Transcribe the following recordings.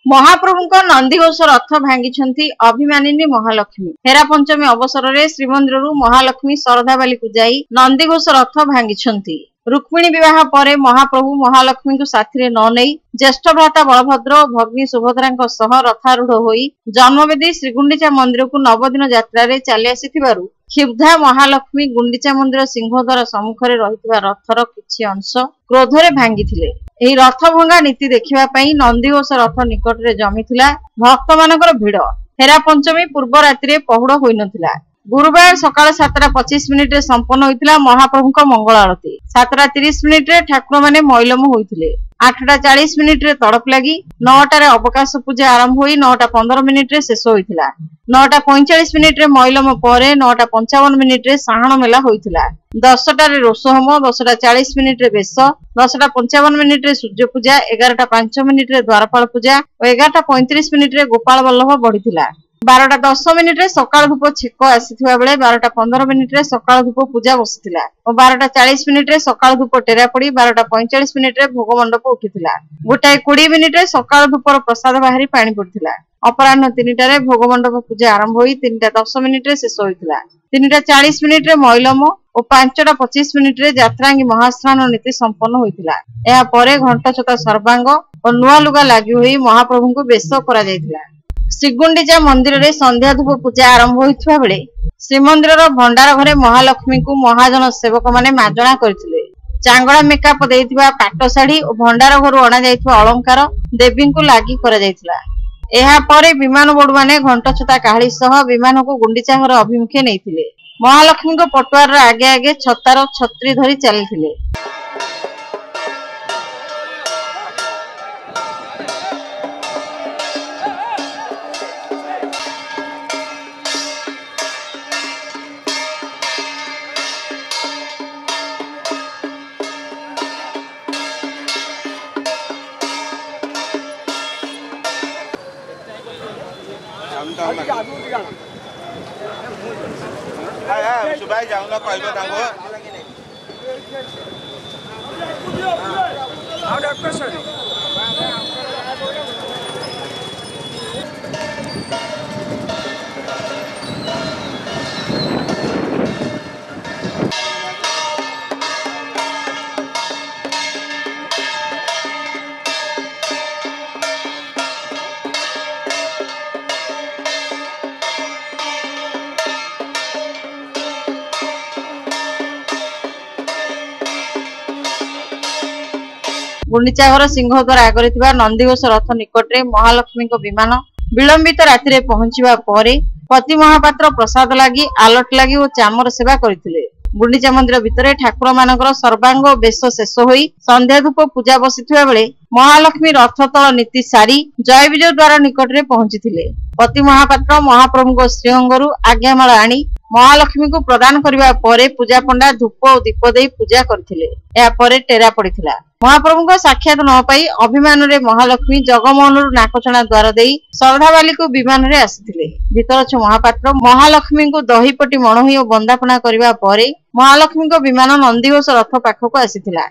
ମହାପ୍ରଭୁଙ୍କ ନନ୍ଦିଘୋଷ ରଥ ଭାଙ୍ଗିଛନ୍ତି ଅଭିମାନିନୀ ମହାଲକ୍ଷ୍ମୀ। ହେରା ପଞ୍ଚମୀ ଅବସରରେ ଶ୍ରୀମନ୍ଦିରରୁ ମହାଲକ୍ଷ୍ମୀ ଶରଧାବାଲିକୁ ଯାଇ ନନ୍ଦିଘୋଷ ରଥ ଭାଙ୍ଗିଛନ୍ତି। ରୁକ୍ମିଣୀ ବିବାହ ପରେ ମହାପ୍ରଭୁ ମହାଲକ୍ଷ୍ମୀଙ୍କୁ ସାଥିରେ ନ ନେଇ ଜ୍ୟେଷ୍ଠ ଭ୍ରାତା ବଳଭଦ୍ର ଓ ଭଗ୍ନୀ ସୁଭଦ୍ରାଙ୍କ ସହ ରଥାରୂଢ ହୋଇ ଜନ୍ମବେଦୀ ଶ୍ରୀଗୁଣ୍ଡିଚା ମନ୍ଦିରକୁ ନବଦିନ ଯାତ୍ରାରେ ଚାଲି ଆସିଥିବାରୁ କ୍ଷୁବ୍ଧା ମହାଲକ୍ଷ୍ମୀ ଗୁଣ୍ଡିଚା ମନ୍ଦିର ସିଂହଦ୍ୱାର ସମ୍ମୁଖରେ ରହିଥିବା ରଥର କିଛି ଅଂଶ କ୍ରୋଧରେ ଭାଙ୍ଗିଥିଲେ। ଏହି ରଥ ଭଙ୍ଗା ନୀତି ଦେଖିବା ପାଇଁ ନନ୍ଦିଘୋଷ ରଥ ନିକଟରେ ଜମିଥିଲା ଭକ୍ତମାନଙ୍କର ଭିଡ। ହେରା ପଞ୍ଚମୀ ପୂର୍ବ ରାତିରେ ପହୁଡ଼ ହୋଇନଥିଲା। ଗୁରୁବାର ସକାଳ 7:25ରେ ସମ୍ପନ୍ନ ହୋଇଥିଲା ମହାପ୍ରଭୁଙ୍କ ମଙ୍ଗଳ ଆଳତୀ। 7:30ରେ ଠାକୁରମାନେ ମଇଲମ ହୋଇଥିଲେ। 8:40ରେ ତଡ଼ପ ଲାଗି, 9ଟାରେ ଅବକାଶ ପୂଜା ଆରମ୍ଭ ହୋଇ 9:15ରେ ଶେଷ ହୋଇଥିଲା। 9:45ରେ ମଇଲମ ପରେ 9:55ରେ ସାହାଣ ମେଲା ହୋଇଥିଲା। 10ଟାରେ ରୋଷହୋମ, 10:40ରେ ବେଶ, 10:55ରେ ସୂର୍ଯ୍ୟ ପୂଜା, 11:05ରେ ଦ୍ୱାରପାଳ ପୂଜା ଓ 11:35ରେ ଗୋପାଳ ବଲ୍ଲଭ ବଢିଥିଲା। 12:10ରେ ସକାଳ ଧୂପ ଛେକ ଆସିଥିବା ବେଳେ 12:15ରେ ସକାଳ ଧୂପ ପୂଜା ବସିଥିଲା ଓ 12:40ରେ ସକାଳ ଧୂପ ଟେରା ପଡି 12:45ରେ ଭୋଗ ମଣ୍ଡପ ଉଠିଥିଲା। 1:20ରେ ସକାଳ ଧୂପର ପ୍ରସାଦ ବାହାରି ପାଣି ପଡିଥିଲା। ଅପରାହ୍ନ 3ଟାରେ ଭୋଗ ମଣ୍ଡପ ପୂଜା ଆରମ୍ଭ ହୋଇ 3:10ରେ ଶେଷ ହୋଇଥିଲା। 3:40ରେ ମଇଲମ ଓ 5:25ରେ ଯାତ୍ରାଙ୍ଗୀ ମହାସ୍ନାନ ନୀତି ସମ୍ପନ୍ନ ହୋଇଥିଲା। ଏହାପରେ ଘଣ୍ଟଛତା ସର୍ବାଙ୍ଗ ଓ ନୂଆ ଲୁଗା ଲାଗି ହୋଇ ମହାପ୍ରଭୁଙ୍କୁ ବେଶ କରାଯାଇଥିଲା। ଶ୍ରୀଗୁଣ୍ଡିଚା ମନ୍ଦିରରେ ସନ୍ଧ୍ୟା ଧୂପ ପୂଜା ଆରମ୍ଭ ହୋଇଥିବା ବେଳେ ଶ୍ରୀମନ୍ଦିରର ଭଣ୍ଡାର ଘରେ ମହାଲକ୍ଷ୍ମୀଙ୍କୁ ମହାଜନ ସେବକମାନେ ମାଜଣା କରିଥିଲେ। ଚାଙ୍ଗଳା ମେକାପ ଦେଇଥିବା ପାଟ ଶାଢୀ ଓ ଭଣ୍ଡାର ଘରୁ ଅଣାଯାଇଥିବା ଅଳଙ୍କାର ଦେବୀଙ୍କୁ ଲାଗି କରାଯାଇଥିଲା। ଏହାପରେ ବିମାନ ବଡୁମାନେ ଘଣ୍ଟଛତା କାହାଳୀ ସହ ବିମାନକୁ ଗୁଣ୍ଡିଚା ଘର ଅଭିମୁଖେ ନେଇଥିଲେ। ମହାଲକ୍ଷ୍ମୀଙ୍କ ପଟୁଆରର ଆଗେ ଆଗେ ଛତାର ଛତ୍ରୀ ଧରି ଚାଲିଥିଲେ। ସୁଭାଇ ଯାଉନ କହିବ ତାଙ୍କୁ। ଆଉ ଡକ୍ଟର। ଗୁଣ୍ଡିଚା ଘର ସିଂହଦ୍ୱାର ଆଗରେ ଥିବା ନନ୍ଦିଘୋଷ ରଥ ନିକଟରେ ମହାଲକ୍ଷ୍ମୀଙ୍କ ବିମାନ ବିଳମ୍ବିତ ରାତିରେ ପହଞ୍ଚିବା ପରେ ପତି ମହାପାତ୍ର ପ୍ରସାଦ ଲାଗି, ଆଲଟ ଲାଗି ଓ ଚାମର ସେବା କରିଥିଲେ। ଗୁଣ୍ଡିଚା ମନ୍ଦିର ଭିତରେ ଠାକୁରମାନଙ୍କର ସର୍ବାଙ୍ଗ ବେଶ ଶେଷ ହୋଇ ସନ୍ଧ୍ୟା ଧୂପ ପୂଜା ବସିଥିବା ବେଳେ ମହାଲକ୍ଷ୍ମୀ ରଥ ତଳ ନୀତି ସାରି ଜୟ ବିଜୟ ଦ୍ୱାର ନିକଟରେ ପହଞ୍ଚିଥିଲେ। ପତି ମହାପାତ୍ର ମହାପ୍ରଭୁଙ୍କ ଶ୍ରୀଅଙ୍ଗରୁ ଆଜ୍ଞାମାଳ ଆଣି ମହାଲକ୍ଷ୍ମୀଙ୍କୁ ପ୍ରଦାନ କରିବା ପରେ ପୂଜାପଣ୍ଡା ଧୂପ ଓ ଦୀପ ଦେଇ ପୂଜା କରିଥିଲେ। ଏହାପରେ ଟେରା ପଡିଥିଲା। ମହାପ୍ରଭୁଙ୍କ ସାକ୍ଷାତ ନ ପାଇ ଅଭିମାନରେ ମହାଲକ୍ଷ୍ମୀ ଜଗମୋହନରୁ ନାକଚଣା ଦ୍ୱାର ଦେଇ ଶରଧାବାଲିକୁ ବିମାନରେ ଆସିଥିଲେ। ଭିତରଛ ମହାପାତ୍ର ମହାଲକ୍ଷ୍ମୀଙ୍କୁ ଦହିପଟି ମଣୋହି ଓ ବନ୍ଦାପନା କରିବା ପରେ ମହାଲକ୍ଷ୍ମୀଙ୍କ ବିମାନ ନନ୍ଦିଘୋଷ ରଥ ପାଖକୁ ଆସିଥିଲା।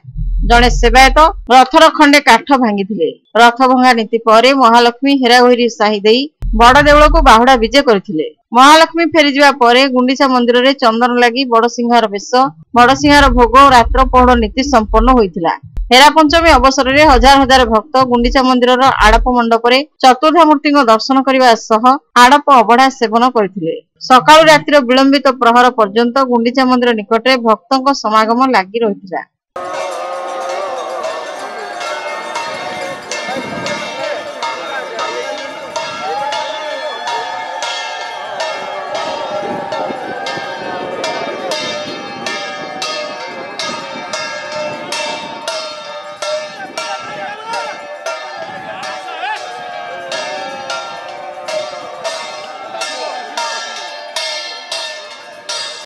ଜଣେ ସେବାୟତ ରଥର ଖଣ୍ଡେ କାଠ ଭାଙ୍ଗିଥିଲେ। ରଥ ଭଙ୍ଗା ନୀତି ପରେ ମହାଲକ୍ଷ୍ମୀ ହେରାଘୋଇରି ସାହି ଦେଇ ବଡ ଦେଉଳକୁ ବାହୁଡା ବିଜେ କରିଥିଲେ। ମହାଲକ୍ଷ୍ମୀ ଫେରିଯିବା ପରେ ଗୁଣ୍ଡିଚା ମନ୍ଦିରରେ ଚନ୍ଦନ ଲାଗି, ବଡସିଂହାର ବେଶ, ବଡସିଂହାର ଭୋଗ ଓ ରାତ୍ର ପହୁଡ଼ ନୀତି ସମ୍ପନ୍ନ ହୋଇଥିଲା। ହେରା ପଞ୍ଚମୀ ଅବସରରେ ହଜାର ହଜାର ଭକ୍ତ ଗୁଣ୍ଡିଚା ମନ୍ଦିରର ଆଡ଼ପ ମଣ୍ଡପରେ ଚତୁର୍ଦ୍ଧାମୂର୍ତ୍ତିଙ୍କ ଦର୍ଶନ କରିବା ସହ ଆଡ଼ପ ଅବଢା ସେବନ କରିଥିଲେ। ସକାଳୁ ରାତିର ବିଳମ୍ବିତ ପ୍ରହର ପର୍ଯ୍ୟନ୍ତ ଗୁଣ୍ଡିଚା ମନ୍ଦିର ନିକଟରେ ଭକ୍ତଙ୍କ ସମାଗମ ଲାଗି ରହିଥିଲା।